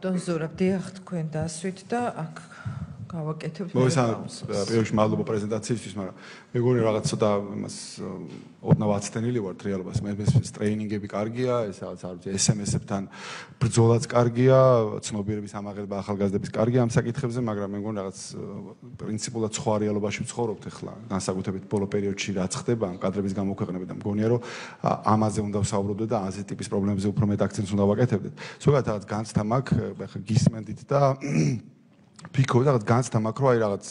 დონზურა დიახ თქვენ დასვით და აქ გავაკეთებთ პირველში მადლობა პრეზენტაციისთვის, მაგრამ მეგონი რაღაც ცოტა იმას ოდნავ აცდენილი ვართ რეალობას. მე ტრეინინგები კარგია, ეს რაღაც არ ვიცი, SMS-ებთან ბრძოლაც კარგია, ცნობიერების ამაღლება ახალგაზრდების კარგია ამ საკითხებზე, მაგრამ მე მგონი რაღაც პრინციპულად სხვა რეალობაში ვცხოვრობთ ახლა, განსაკუთრებით ბოლო პერიოდში რაც ხდება ამ კადრების გამოქვეყნება და მგონია რომ ამაზე უნდა ვსაუბრობდეთ და ასეთი ტიპის პრობლემებზე უფრო მეტ აქცენტს უნდა ვაკეთებდეთ. ზოგადად რაღაც განცდა მაქვს, ახლა გისმენდით და ფიქრობ რაღაც განცდა მაქვს, რომ აი რაღაც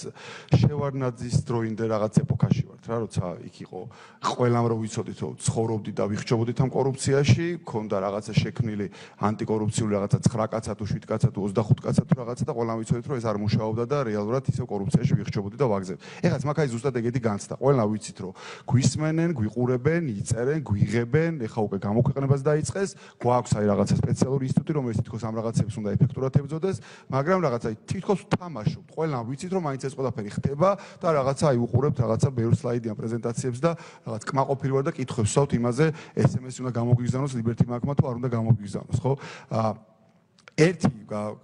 შევარდნაძის დროინდე რაღაც ეპოქაში ვართ რა, როცა იქ იყო ყველამ რომ ვიცოდით, რომ ცხოვრობდით და ვიხჩობოდით ამ კორუფციაში, ქონდა რაღაცა შექმნილი ანტიკორუფციული რაღაცა 9 კაცა თუ 7 კაცა თუ 25 კაცა თუ რაღაცა და ყველამ ვიცოდით, რომ ეს არ მუშაობდა და რეალურად ისევ კორუფციაში ვიხჩობოდით და ვაგზავნით. ეხლა მაგ აი ზუსტად ეგეთი განცდა. ყველამ ვიცით, რომ გვისმენენ, გვიყურებენ, იწერენ, გვიღებენ, ეხლა უკვე გამოქვეყნებას დაიწყეს, გვაქვს აი რაღაცა სპეციალური ინსტიტუტი, რომელიც თითქოს ამ რაღაცებს უნდა ეფექტურად ებრძოდეს, მაგრამ რაღაცა თითქოს თამაშობთ. ყველამ ვიცით, რომ მაინც ეს ყველაფერი ხდება და რაღაცა აი უყურებთ რაღაცა ბევრ სლაიდიან პრეზენტაციებს და რაღაც კმაყოფილი ვარ და კითხვებს ვსვავთ იმაზე, SMS-ი უნდა გამოგვიგზავნოს Liberty Bank-მა თუ არ უნდა გამოგვიგზავნოს, ხო? ერთი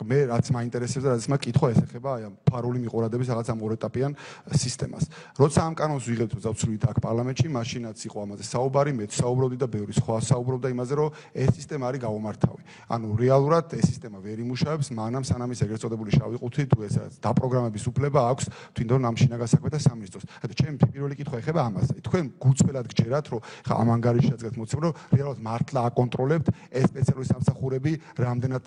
მე რაც მაინტერესებს და რაც მაგ კითხვა ესახება აი ამ ფარული მიყურადების რაღაც ამ ორეტაპიან სისტემას. როცა ამ კანონს ვიღებთ დავცვლით აქ პარლამენტში, მაშინაც იყო ამაზე საუბარი, მეც საუბრობდი და ბევრი სხვა საუბრობდა იმაზე, რომ ეს სისტემა არის გაუმართავი. ანუ რეალურად ეს სისტემა ვერ იმუშავებს, მანამ სანამ ის ეგრეთ წოდებული შავი ყუთი თუ ეს რაც დაპროგრამების უფლება აქვს თვითონ ამ შინაგან საქმეთა სამინისტროს. ანუ ჩემი პირველი კითხვა ეხება ამაზე. თქვენ გუწველად გჯერათ, რომ ხა ამ ანგარიშშიც გეთმოცებ, რომ რეალურად მართლა აკონტროლებთ ეს სპეციალური სამსახურები რამდენად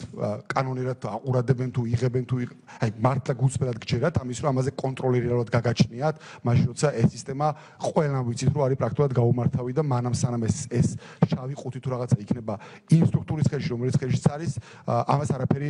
კანონერად აყურებენ თუ იღებენ თუ აი მართლა გუწველად გჯერათ ამის რომ ამაზე კონტროლი რეალურად გაგაჩნიათ მაშინ როცა ეს სისტემა ყველამ ვიცით რომ არის პრაქტიკულად გაუმართავი და მანამ სანამ ეს შავი ყუთი თუ რაღაცა იქნება იმ სტრუქტურის ხელში რომელიც ხელშიც არის ამას არაფერი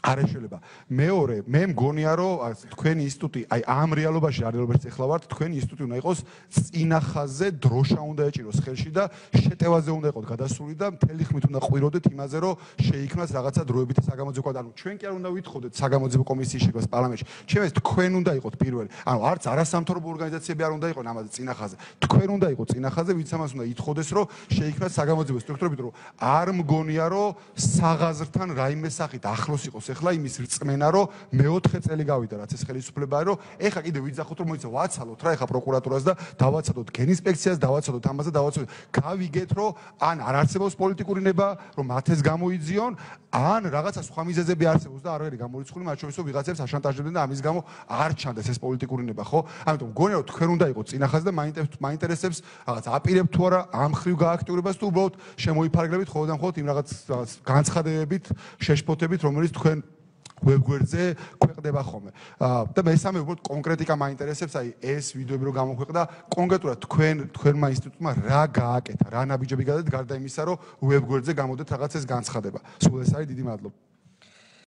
არ ეშველება. მეორე, მე მგონია რომ თქვენი ინსტიტუტი, აი ამ რეალობაში, რეალობაში ეხლა ვართ, თქვენი ინსტიტუტი უნდა იყოს წინახაზე, დროშა უნდა ეჭიროს ხელში და შეტევაზე უნდა იყოს გადასული და მთელი ხმით უნდა ყვიროდეთ იმაზე, რომ შეიქმნას რაღაცა დროებითი საგამოძიებო. ანუ ჩვენ კი არ უნდა ვითხოვდეთ საგამოძიებო კომისიის შექმნას პარლამენტში. ჩემს თქვენ უნდა იყოთ პირველი. ანუ არც არასამთავრობო ორგანიზაციები არ უნდა იყოს ამაზე წინახაზე. თქვენ უნდა იყოთ წინახაზე, ვინც ამას უნდა ითხოვდეს, რომ შეიქმნას საგამოძიებო სტრუქტურები, რომ არ მგონია, რომ საღაზრთან რაიმე სახით ახლოს იყოს ეხლა იმის რწმენა რომ მე-4 წელი გავიდა რაც ეს ხელისუფლებაა რომ ეხა კიდე ვიძახოთ რომ მოიცა ვაცალოთ რა ეხა პროკურატურას და დავაცადოთ გენინსპექციას დავაცადოთ ამაზე დავაცადოთ გავიგეთ რომ ან არ არსებობს პოლიტიკური ნება რომ მათ ეს გამოიძიონ ან რაღაცა სხვა მიზეზები არსებობს და არ ვერი გამორიცხული მათ შორის რომ ვიღაცებს აშანტაჟებდნენ და ამის გამო არ ჩანდეს ეს პოლიტიკური ნება ხო ამიტომ მგონია რომ თქვენ უნდა იყოთ წინახაზე და მაინტერესებს რაღაც აპირებთ თუ არა ამ ხრივ გააქტიურებას თუ უბრალოდ შემოიფარგლებით ხოლმე იმ რაღაც განცხადებებით შეშფოთებით რომელიც თქვენ ვებგვერდზე ქვეყნდება ხოლმე. და მესამე უბრალოდ კონკრეტიკა მაინტერესებს, აი ეს ვიდეოები რომ გამოქვეყნდა, კონკრეტულად თქვენმა ინსტიტუტმა რა გააკეთა, რა ნაბიჯები გადადეთ გარდა იმისა, რომ ვებგვერდზე გამოდეთ რაღაც ეს განცხადება. სულ ეს არის დიდი მადლობა.